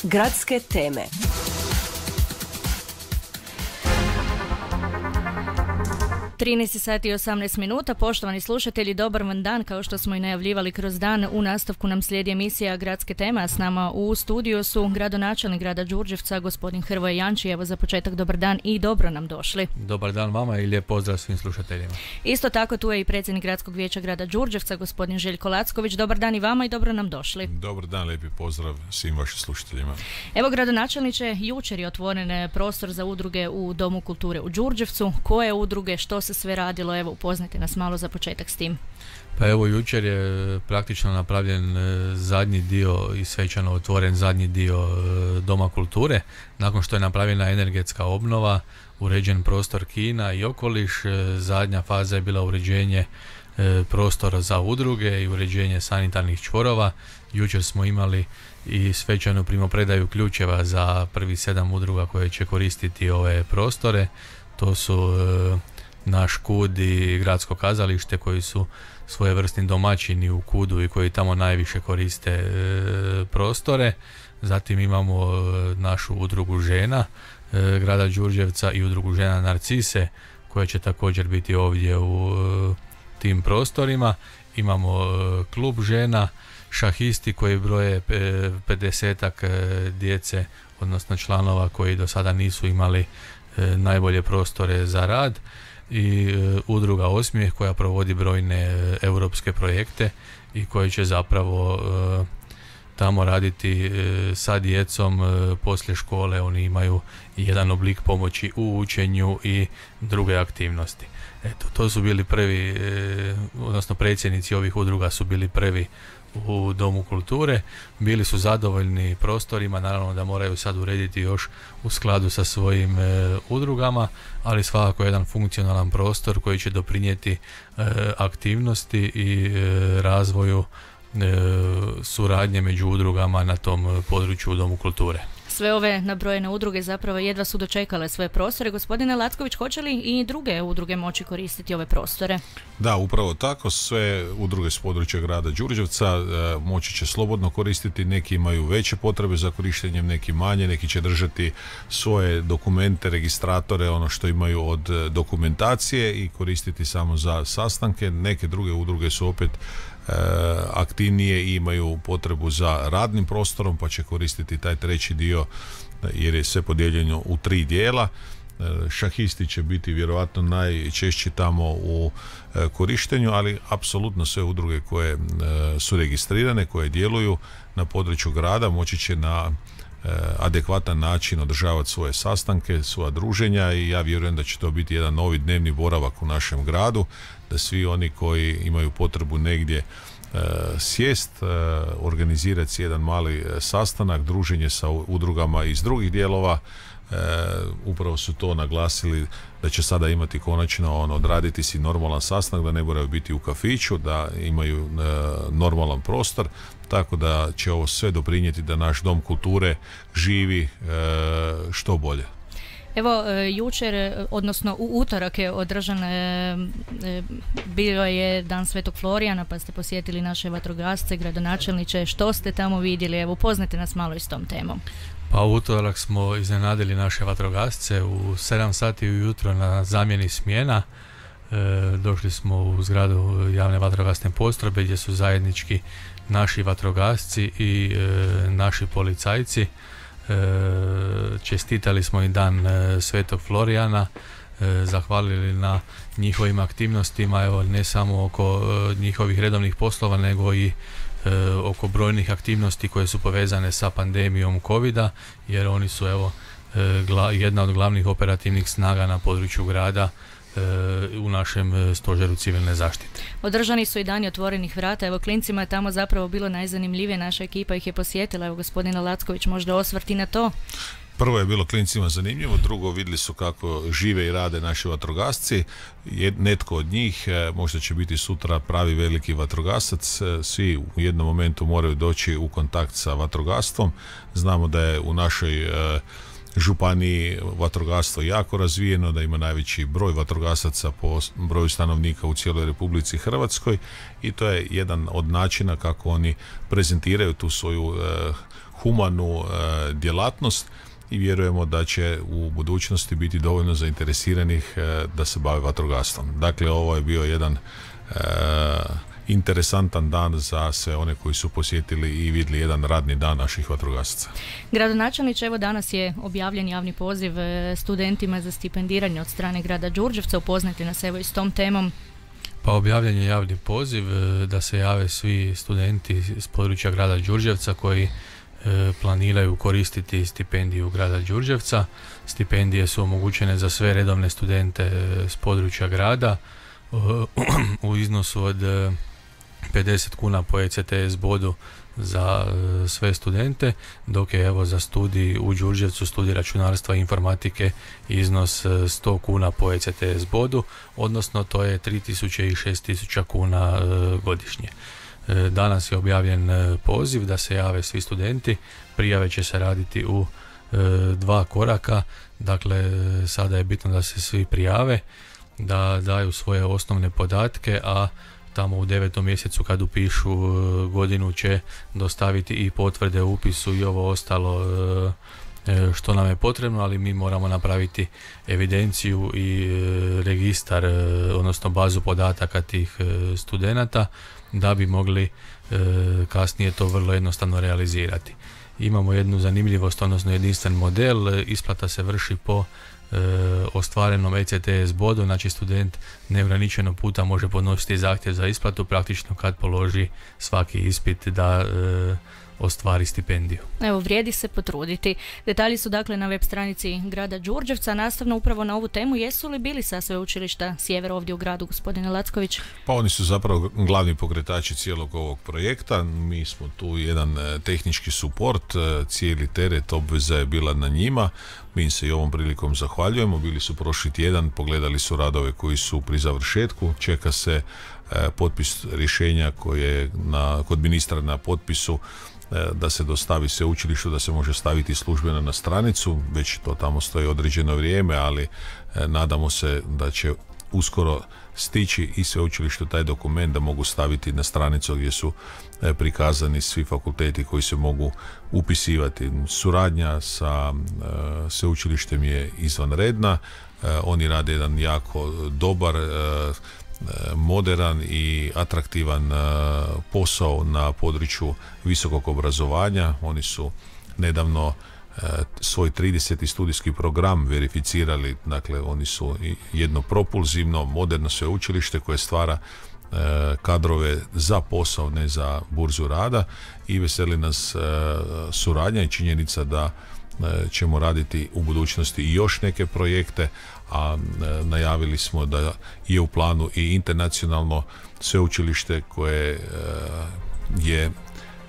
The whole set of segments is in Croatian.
Gradske teme. Sati i 18 minuta. Poštovani slušatelji, dobar vam dan. Kao što smo i najavljivali kroz dan, u nastavku nam slijedi emisija Gradske teme, a s nama u studiju su gradonačelnik grada Đurđevca, gospodin Hrvoje Janči. Evo za početak dobar dan i dobro nam došli. Dobar dan vama i lijep pozdrav svim slušateljima. Isto tako tu je i predsjednik gradskog vijeća grada Đurđevca, gospodin Željko Lacković. Dobar dan i vama i dobro nam došli. Dobar dan, lijepi pozdrav svim vašim slušateljima. Evo, gradonačelniče, jučer je otvoren prostor za udruge u Domu kulture u Đurđevcu. Koje udruge, što se sve radilo? Evo, upoznajte nas malo za početak s tim. Pa evo, jučer je praktično napravljen zadnji dio i svečano otvoren zadnji dio Doma kulture. Nakon što je napravljena energetska obnova, uređen prostor kina i okoliš, zadnja faza je bila uređenje prostora za udruge i uređenje sanitarnih čvorova. Jučer smo imali i svečanu primopredaju ključeva za prvih 7 udruga koje će koristiti ove prostore. To su naš KUD i gradsko kazalište koji su svojevrsni domaćini u KUD-u i koji tamo najviše koriste prostore. Zatim imamo našu udrugu žena grada Đurđevca i udrugu žena Narcise koja će također biti ovdje u tim prostorima. Imamo klub žena, šahisti koji broje 50-ak djece, odnosno članova koji do sada nisu imali najbolje prostore za rad, i udruga Osmijeh koja provodi brojne europske projekte i koji će zapravo tamo raditi sa djecom poslije škole. Oni imaju jedan oblik pomoći u učenju i druge aktivnosti. Eto, to su bili prvi, odnosno predsjednici ovih udruga su bili prvi u Domu kulture, bili su zadovoljni prostorima, naravno da moraju sad urediti još u skladu sa svojim udrugama, ali svakako jedan funkcionalan prostor koji će doprinijeti aktivnosti i razvoju suradnje među udrugama na tom području u Domu kulture. Sve ove nabrojene udruge zapravo jedva su dočekale svoje prostore. Gospodine Lacković, hoće li i druge udruge moći koristiti ove prostore? Da, upravo tako. Sve udruge s područja grada Đurđevca moći će slobodno koristiti. Neki imaju veće potrebe za korištenjem, neki manje. Neki će držati svoje dokumente, registratore, ono što imaju od dokumentacije i koristiti samo za sastanke. Neke druge udruge su opet aktivnije i imaju potrebu za radnim prostorom, pa će koristiti taj treći dio jer je sve podijeljeno u 3 dijela. Šahisti će biti vjerojatno najčešći tamo u korištenju, ali apsolutno sve udruge koje su registrirane, koje djeluju na području grada moći će na adekvatan način održavati svoje sastanke, svoja druženja, i ja vjerujem da će to biti jedan novi dnevni boravak u našem gradu, da svi oni koji imaju potrebu negdje sjest, organizirati jedan mali sastanak, druženje sa udrugama iz drugih dijelova, upravo su to naglasili da će sada imati konačno odraditi si normalan sastanak, da ne moraju biti u kafiću, da imaju normalan prostor, tako da će ovo sve doprinijeti da naš Dom kulture živi što bolje. Evo, jučer, odnosno u utorak je održan, bio je Dan Svetog Florijana, pa ste posjetili naše vatrogasce. Gradonačelniče, što ste tamo vidjeli? Evo, upoznajte nas malo i s tom temom. Pa u utorak smo iznenadili naše vatrogasce u 7 sati ujutro na zamjeni smjena. Došli smo u zgradu javne vatrogasne postrojbe gdje su zajednički naši vatrogasci i naši policajci. Čestitali smo i Dan Svetog Florijana, zahvalili na njihovim aktivnostima, evo, ne samo oko njihovih redovnih poslova, nego i oko brojnih aktivnosti koje su povezane sa pandemijom covida, jer oni su jedna od glavnih operativnih snaga na području grada u našem stožeru civilne zaštite. Održani su i dani otvorenih vrata. Evo, klincima je tamo zapravo bilo najzanimljivije, naša ekipa ih je posjetila. Evo, gospodina Lacković, možda osvrti na to? Prvo je bilo klincima zanimljivo, drugo vidjeli su kako žive i rade naši vatrogasci. Netko od njih možda će biti sutra pravi veliki vatrogasac. Svi u jednom momentu moraju doći u kontakt sa vatrogastvom. Znamo da je u našoj županiji vatrogastvo jako razvijeno, da ima najveći broj vatrogasaca po broju stanovnika u cijeloj Republici Hrvatskoj i to je jedan od načina kako oni prezentiraju tu svoju humanu djelatnost i vjerujemo da će u budućnosti biti dovoljno zainteresiranih da se bave vatrogastvom. Dakle, ovo je bio jedan interesantan dan za sve one koji su posjetili i vidjeli jedan radni dan naših vatrogasaca. Gradonačelniče, evo danas je objavljen javni poziv studentima za stipendiranje od strane grada Đurđevca. Upoznajte nas evo i s tom temom. Pa objavljen je javni poziv da se jave svi studenti iz područja grada Đurđevca koji planiraju koristiti stipendiju grada Đurđevca. Stipendije su omogućene za sve redovne studente s područja grada u iznosu od 50 kuna po ECTS bodu za sve studente, dok je evo za studij u Đurđevcu, studij računarstva i informatike, iznos 100 kuna po ECTS bodu, odnosno to je 3000 i 6000 kuna godišnje. Danas je objavljen poziv da se jave svi studenti. Prijave će se raditi u 2 koraka. Dakle, sada je bitno da se svi prijave, da daju svoje osnovne podatke, a tamo u 9. mjesecu kad upišu godinu će dostaviti i potvrde o upisu i ovo ostalo što nam je potrebno, ali mi moramo napraviti evidenciju i registar, odnosno bazu podataka tih studenata da bi mogli kasnije to vrlo jednostavno realizirati. Imamo jednu zanimljivost, odnosno jedinstven model. Isplata se vrši po ostvarenom ECTS bodu, znači student neograničeno puta može podnositi zahtjev za isplatu praktično kad položi svaki ispit da ostvari stipendiju. Evo, vrijedi se potruditi. Detalji su dakle na web stranici grada Đurđevca. Nastavno upravo na ovu temu, jesu li bili sa sveučilišta Sjever ovdje u gradu, gospodine Lacković? Pa oni su zapravo glavni pokretači cijelog ovog projekta. Mi smo tu jedan tehnički suport, cijeli teret obveza je bila na njima. Mi se i ovom prilikom zahvaljujemo. Bili su prošli tjedan, pogledali su radove koji su pri završetku. Čeka se potpis rješenja koje je kod ministra na potpisu da se dostavi sveučilištu, da se može staviti službeno na stranicu. Već to tamo stoji određeno vrijeme, ali nadamo se da će uskoro stići i sveučilištu taj dokument da mogu staviti na stranicu gdje su prikazani svi fakulteti koji se mogu upisivati. Suradnja sa sveučilištem je izvanredna. Oni rade jedan jako dobar, moderan i atraktivan posao na području visokog obrazovanja. Oni su nedavno svoj 30. studijski program verificirali. Dakle, oni su jedno propulzivno, moderno sveučilište koje stvara kadrove za posao, ne za burzu rada, i veseli nas suradnja i činjenica da ćemo raditi u budućnosti i još neke projekte, a najavili smo da je u planu i internacionalno sveučilište koje je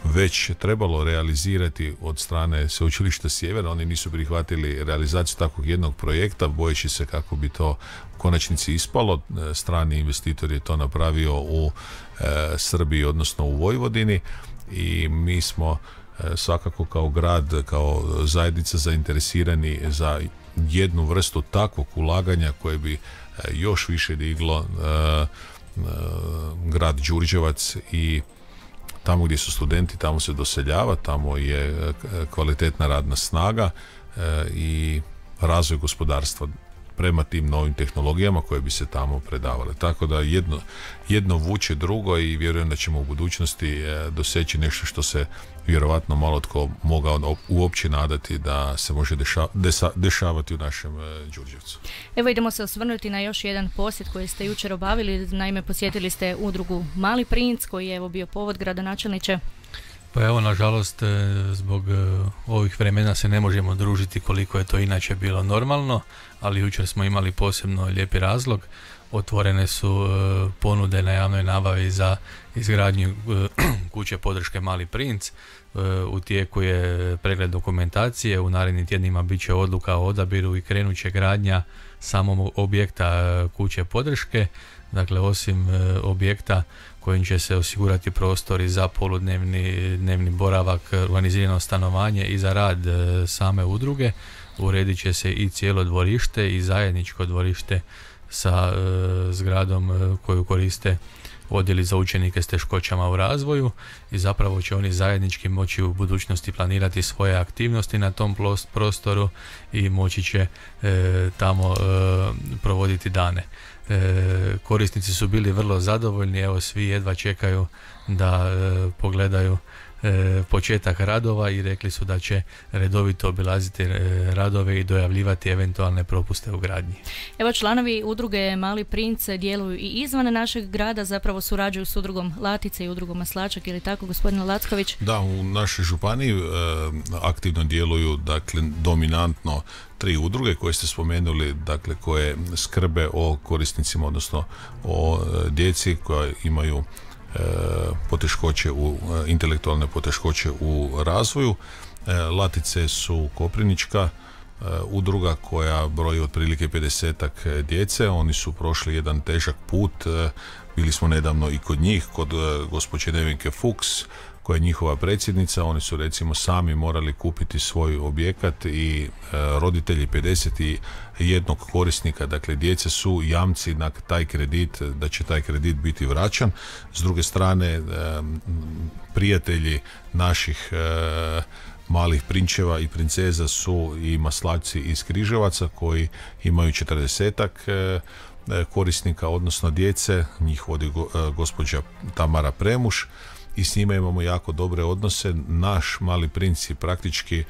već trebalo realizirati od strane sveučilišta Sjever. Oni nisu prihvatili realizaciju takvog jednog projekta, bojeći se kako bi to u konačnici ispalo. Strani investitor je to napravio u Srbiji, odnosno u Vojvodini, i mi smo svakako kao grad, kao zajednica zainteresirani za jednu vrstu takvog ulaganja koje bi još više diglo grad Đurđevac, i tamo gdje su studenti, tamo se doseljava, tamo je kvalitetna radna snaga i razvoj gospodarstva prema tim novim tehnologijama koje bi se tamo predavale. Tako da jedno vuče drugo i vjerujem da ćemo u budućnosti doseći nešto što se vjerovatno malo tko mogao uopće nadati da se može dešavati u našem Đurđevcu. Evo, idemo se osvrnuti na još jedan posjet koji ste jučer obavili. Naime, posjetili ste udrugu Mali princ, koji je evo bio povod, gradonačelniče. Pa evo, nažalost, zbog ovih vremena se ne možemo družiti koliko je to inače bilo normalno, ali jučer smo imali posebno lijepi razlog. Otvorene su ponude na javnoj nabavi za izgradnju kuće podrške Mali princ. U tijeku je pregled dokumentacije, u narednim tjednima bit će odluka o odabiru i krenut će gradnja samog objekta kuće podrške. Dakle, osim objekta kojim će se osigurati prostori za poludnevni, dnevni boravak, organizirano stanovanje i za rad same udruge, uredit će se i cijelo dvorište i zajedničko dvorište sa zgradom koju koriste odjeli za učenike s teškoćama u razvoju i zapravo će oni zajednički moći u budućnosti planirati svoje aktivnosti na tom prostoru i moći će tamo provoditi dane. Korisnici su bili vrlo zadovoljni, evo svi jedva čekaju da pogledaju početak radova i rekli su da će redovito obilaziti radove i dojavljivati eventualne propuste u gradnji. Evo, članovi udruge Mali princ djeluju i izvan našeg grada, zapravo surađuju s udrugom Latice i udrugom Maslačak, ili tako, gospodine Lacković? Da, u našoj županiji aktivno djeluju, dakle, dominantno 3 udruge koje ste spomenuli, dakle, koje skrbe o korisnicima, odnosno o djeci koja imaju poteškoće intelektualne poteškoće u razvoju. Latice su koprivnička udruga koja broji otprilike 50-ak djece. Oni su prošli jedan težak put. Bili smo nedavno i kod njih, kod gospođe Nevenke Fuchs, koja je njihova predsjednica. Oni su recimo sami morali kupiti svoj objekat i roditelji 51 korisnika, dakle djece, su jamci na taj kredit, da će taj kredit biti vraćan. S druge strane, prijatelji naših malih prinčeva i princeza su i maslačci iz Križevaca koji imaju 40-ak korisnika, odnosno djece. Njih vodi gospođa Tamara Premuš i s njima imamo jako dobre odnose. Naš Mali princ je praktički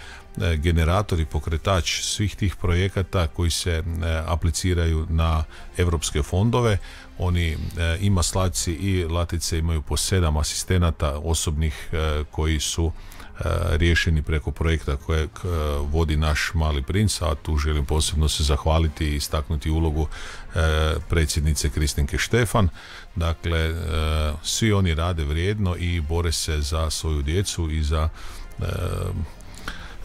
generator i pokretač svih tih projekata koji se apliciraju na europske fondove. Oni i maslačci i latice imaju po 7 asistenata osobnih koji su riješeni preko projekta kojeg vodi naš Mali princ, a tu želim posebno se zahvaliti i istaknuti ulogu predsjednice Kristinke Štefan. Dakle, svi oni rade vrijedno i bore se za svoju djecu i za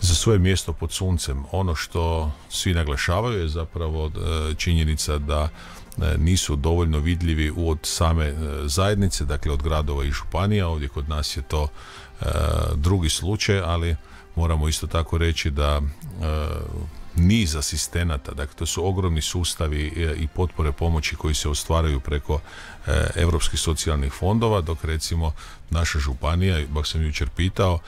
svoje mjesto pod suncem. Ono što svi naglašavaju je zapravo činjenica da nisu dovoljno vidljivi od same zajednice, dakle od gradova i županija. Ovdje kod nas je to drugi slučaj, ali moramo isto tako reći da niz asistenata, dakle to su ogromni sustavi i potpore pomoći koji se ostvaraju preko europskih socijalnih fondova, dok recimo naša županija, baš sam jučer pitao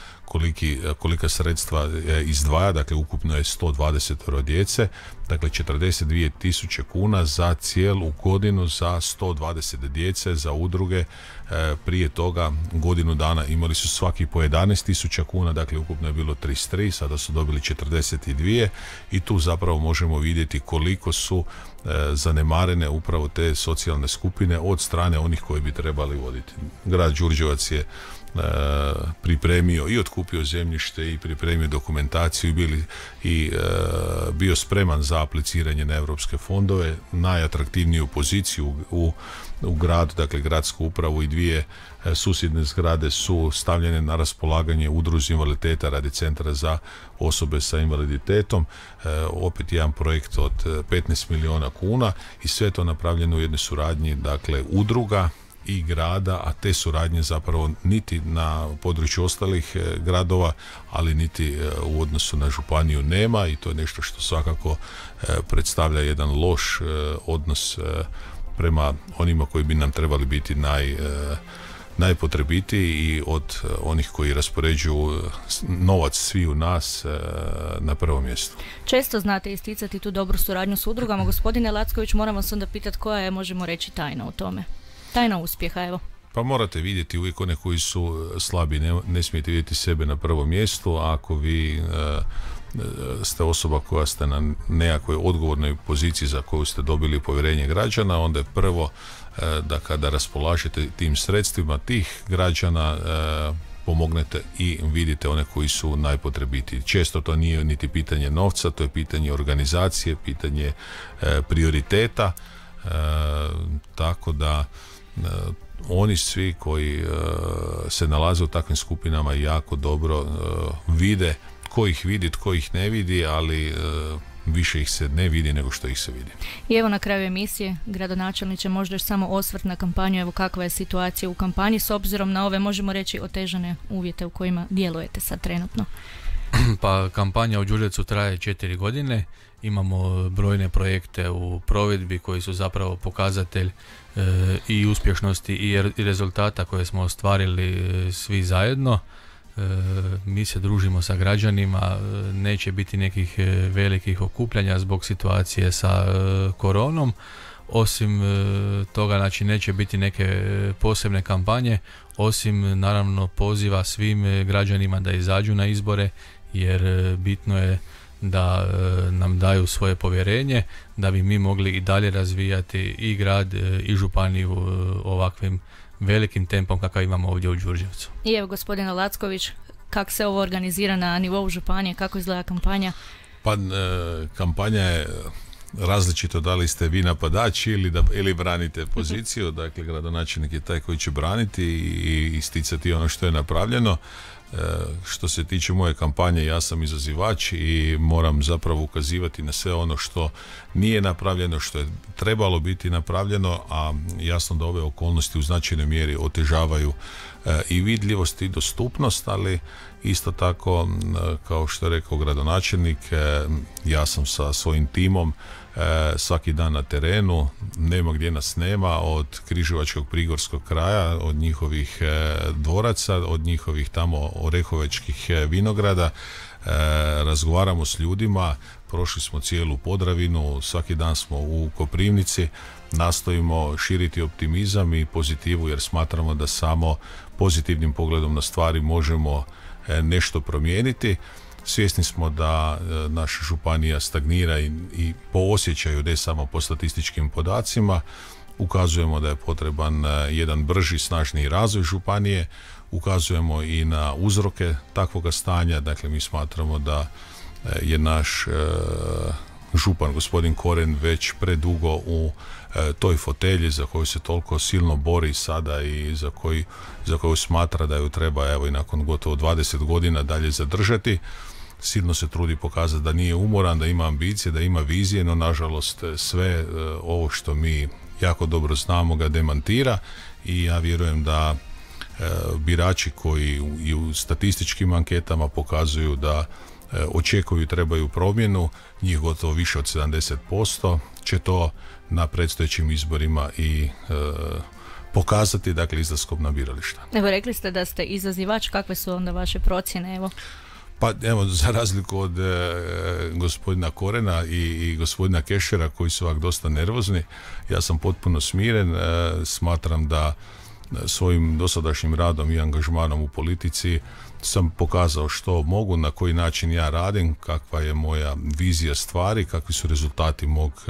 kolika sredstva izdvaja, dakle ukupno je 120 djece, dakle 42.000 kuna za cijelu godinu za 120 djece, za udruge. Prije toga godinu dana imali su svaki po 11.000 kuna, dakle ukupno je bilo 33, sada su dobili 42 i tu zapravo možemo vidjeti koliko su zanemarene upravo te socijalne skupine od strane onih koji bi trebali voditi. Grad Đurđevac je pripremio i otkupio zemljište i pripremio dokumentaciju i bio spreman za apliciranje na europske fondove. Najatraktivniju poziciju u gradu, dakle gradsku upravu i 2 susjedne zgrade su stavljene na raspolaganje udruzi invaliditeta radi centra za osobe sa invaliditetom. Opet jedan projekt od 15 milijuna kuna i sve to napravljeno u jednoj suradnji, dakle udruga i grada, a te suradnje zapravo niti na području ostalih gradova, ali niti u odnosu na županiju nema i to je nešto što svakako predstavlja jedan loš odnos prema onima koji bi nam trebali biti najpotrebitiji i od onih koji raspoređuju novac svi u nas na prvom mjestu. Često znate isticati tu dobru suradnju s udrugama. Gospodine Lacković, moramo se onda pitati koja je, možemo reći, tajna u tome? Tajna uspjeha, evo. Pa morate vidjeti uvijek one koji su slabi, ne smijete vidjeti sebe na prvom mjestu. Ako vi ste osoba koja ste na nekakvoj odgovornoj poziciji za koju ste dobili povjerenje građana, onda je prvo da kada raspolažete tim sredstvima tih građana pomognete i vidite one koji su najpotrebitiji. Često to nije niti pitanje novca, to je pitanje organizacije, pitanje prioriteta, tako da oni svi koji se nalaze u takvim skupinama jako dobro vide tko ih vidi, tko ih ne vidi, ali više ih se ne vidi nego što ih se vidi. I evo na kraju emisije, gradonačelniče, možda još samo osvrt na kampanju, evo kakva je situacija u kampanji s obzirom na ove, možemo reći, otežane uvjete u kojima djelujete sad trenutno. Pa kampanja u Đurđevcu traje 4 godine, imamo brojne projekte u provedbi koji su zapravo pokazatelj i uspješnosti i rezultata koje smo ostvarili svi zajedno. Mi se družimo sa građanima, neće biti nekih velikih okupljanja zbog situacije sa koronom. Osim toga, znači, neće biti neke posebne kampanje, osim naravno poziva svim građanima da izađu na izbore, jer bitno je da nam daju svoje povjerenje, da bi mi mogli i dalje razvijati i grad i županiju ovakvim velikim tempom kakav imamo ovdje u Đurđevcu. I evo, gospodine Lacković, kako se ovo organizira na nivou županije, kako izgleda kampanja? Pa kampanja je različito, da li ste vi napadači ili branite poziciju. Dakle, gradonačelnik je taj koji će braniti i isticati ono što je napravljeno. Što se tiče moje kampanje, ja sam izazivač i moram zapravo ukazivati na sve ono što nije napravljeno, što je trebalo biti napravljeno, a jasno da ove okolnosti u značajnoj mjeri otežavaju i vidljivost i dostupnost, ali isto tako, kao što je rekao gradonačelnik, ja sam sa svojim timom svaki dan na terenu, nema gdje nas nema, od križevačkog prigorskog kraja, od njihovih dvoraca, od njihovih tamo orehovečkih vinograda, razgovaramo s ljudima, prošli smo cijelu Podravinu, svaki dan smo u Koprivnici, nastojimo širiti optimizam i pozitivu, jer smatramo da samo pozitivnim pogledom na stvari možemo nešto promijeniti. Svjesni smo da naša županija stagnira i po osjećaju, ne samo po statističkim podacima. Ukazujemo da je potreban jedan brži, snažniji razvoj županije. Ukazujemo i na uzroke takvoga stanja. Dakle, mi smatramo da je naš župan, gospodin Koren, već predugo u toj fotelji za koju se toliko silno bori sada i za koju smatra da ju treba, evo, i nakon gotovo 20 godina dalje zadržati. Silno se trudi pokazati da nije umoran, da ima ambicije, da ima vizije, no nažalost sve ovo što mi jako dobro znamo ga demantira, i ja vjerujem da birači koji i u statističkim anketama pokazuju da očekuju i trebaju promjenu, njih gotovo više od 70%, će to na predstojećim izborima i pokazati, dakle, izlaskom na birališta. Evo, rekli ste da ste izazivač, kakve su onda vaše procjene, evo? Pa evo, za razliku od gospodina Korena i gospodina Kešera, koji su ovak dosta nervozni, ja sam potpuno smiren. Smatram da svojim dosadašnjim radom i angažmanom u politici sam pokazao što mogu, na koji način ja radim, kakva je moja vizija stvari, kakvi su rezultati mog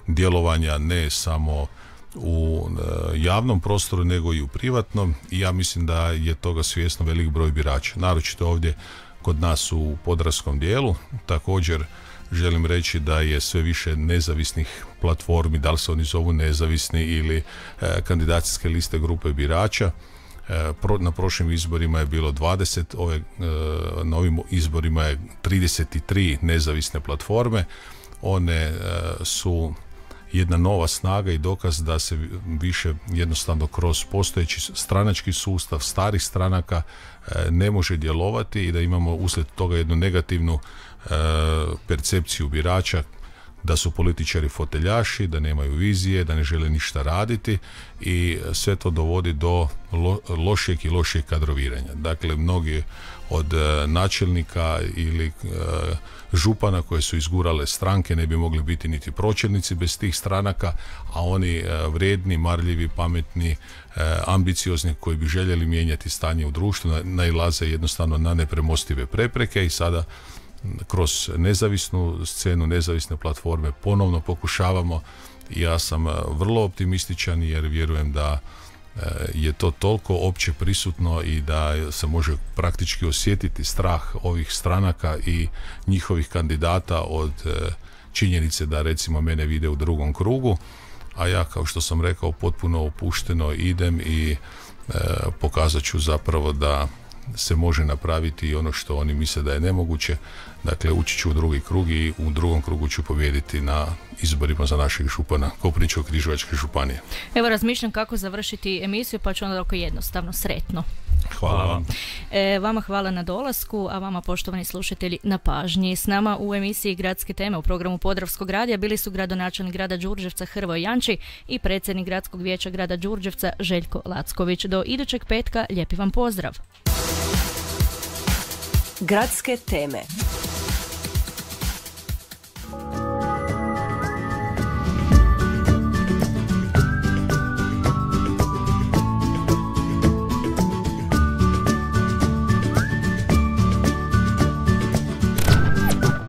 djelovanja, ne samo u javnom prostoru nego i u privatnom, i ja mislim da je toga svjesno velik broj birača, naročito ovdje kod nas u podravskom dijelu. Također želim reći da je sve više nezavisnih platformi, da li se oni zovu nezavisni ili kandidacijske liste grupe birača. Na prošlim izborima je bilo 20, na ovim izborima je 33 nezavisne platforme. One su jedna nova snaga i dokaz da se više jednostavno kroz postojeći stranački sustav starih stranaka ne može djelovati, i da imamo uslijed toga jednu negativnu percepciju birača, da su političari foteljaši, da nemaju vizije, da ne žele ništa raditi, i sve to dovodi do lošijeg i lošijeg kadroviranja. Dakle, mnogi od načelnika ili župana koje su izgurale stranke ne bi mogli biti niti pročelnici bez tih stranaka, a oni vrijedni, marljivi, pametni, ambiciozni, koji bi željeli mijenjati stanje u društvu, nailaze jednostavno na nepremostive prepreke, i sada kroz nezavisnu scenu, nezavisne platforme ponovno pokušavamo. Ja sam vrlo optimističan, jer vjerujem da je to toliko opće prisutno i da se može praktički osjetiti strah ovih stranaka i njihovih kandidata od činjenice da, recimo, mene vide u drugom krugu, a ja, kao što sam rekao, potpuno opušteno idem i pokazat ću zapravo da se može napraviti ono što oni misle da je nemoguće. Dakle, ući ću u drugi krug i u drugom krugu ću pobijediti na izborima za našeg župana Koprivničko-križevačke županije. Evo, razmišljam kako završiti emisiju, pa ću onda oko jednostavno. Sretno. Hvala vam. Vama hvala na dolasku, a vama poštovani slušatelji na pažnji. S nama u emisiji Gradske teme u programu Podravskog radija bili su gradonačelnik grada Đurđevca Hrvoje Janči i predsjednik Gradskog vijeća grada Đurđevca Željko Lacković. Do idućeg petka lijepi vam pozdrav. Gradske teme.